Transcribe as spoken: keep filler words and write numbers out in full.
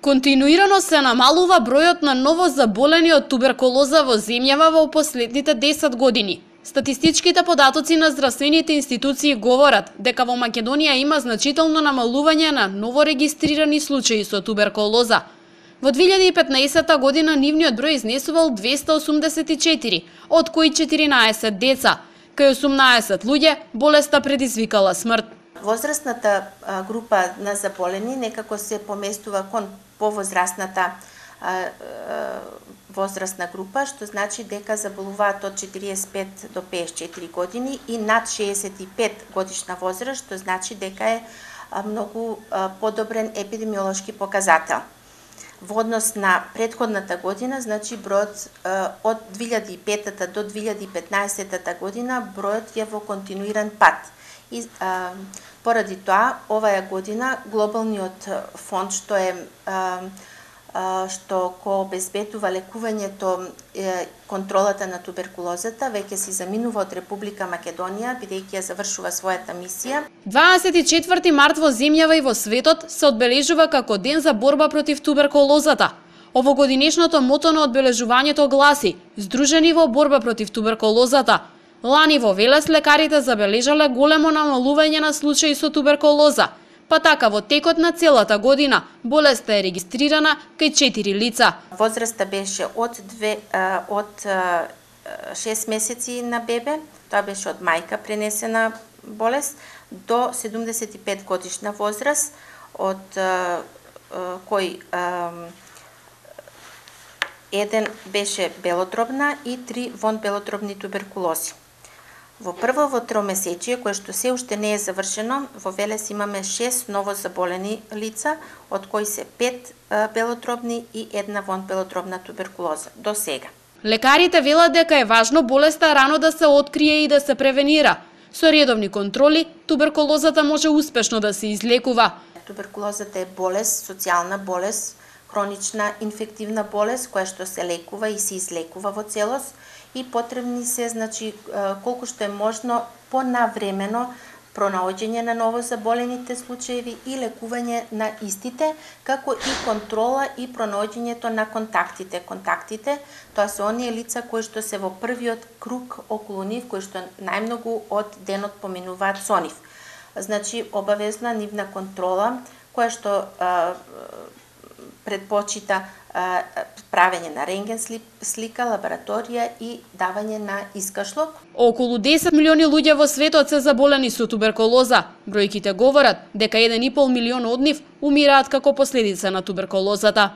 Континуирано се намалува бројот на новозаболени од туберкулоза во земјава во последните десет години. Статистичките податоци на здравствените институции говорат дека во Македонија има значително намалување на новорегистрирани случаи со туберкулоза. Во две илјади и петнаесетта година нивниот број изнесувал двесте осумдесет и четири, од кои четиринаесет деца. Кај осумнаесет луѓе болеста предизвикала смрт. Возрастната група на заболени некако се поместува кон повозрастната возрастна група, што значи дека заболуваат од четириесет и пет до пеесет и четири години и над шеесет и пет годишна возраст, што значи дека е многу подобрен епидемиолошки показател. Во однос на претходната година, значи бројот од две илјади и петта до две илјади и петнаесетта година бројот е во континуиран пат. И а, поради тоа, оваа година глобалниот фонд што е а, а, што ко обезбедува лекувањето е, контролата на туберкулозата веќе си заминува од Република Македонија бидејќи ја завршува својата мисија. дваесет и четврти март во земјава и во светот се одбележува како ден за борба против туберкулозата. Овогодинешното мото на одбележувањето гласи: "Здружени во борба против туберкулозата". Лани во Велес лекарите забележале големо намалување на случаи со туберкулоза, па така во текот на целата година болеста е регистрирана кај четири лица. Возраста беше од две од шест месеци на бебе, тоа беше од мајка пренесена болест, до седумдесет и пет годишна возраст, од кој еден беше белодробна и три вонбелодробни туберкулози. Во прво тромесечие, кое што се уште не е завршено, во Велес имаме шест новозаболени лица, од кои се пет белодробни и една вонбелодробна туберкулоза до сега. Лекарите велат дека е важно болеста рано да се открие и да се превенира. Со редовни контроли, туберкулозата може успешно да се излекува. Туберкулозата е болест, социјална болест, хронична инфективна болест која што се лекува и се излекува во целост и потребни се, значи, колку што е можно понавремено пронаоѓање на новозаболените случаи и лекување на истите, како и контрола и пронаоѓањето на контактите. Контактите, тоа се оние лица кои што се во првиот круг околу нив, кои што најмногу од денот поминуваат со нив. Значи, обавезна нивна контрола, која што а, предпочита а, правење на рентген слика, лабораторија и давање на искашлок. Околу десет милиони луѓе во светот се заболени со туберкулоза. Бројките говорат дека еден и пол милион од нив умираат како последица на туберкулозата.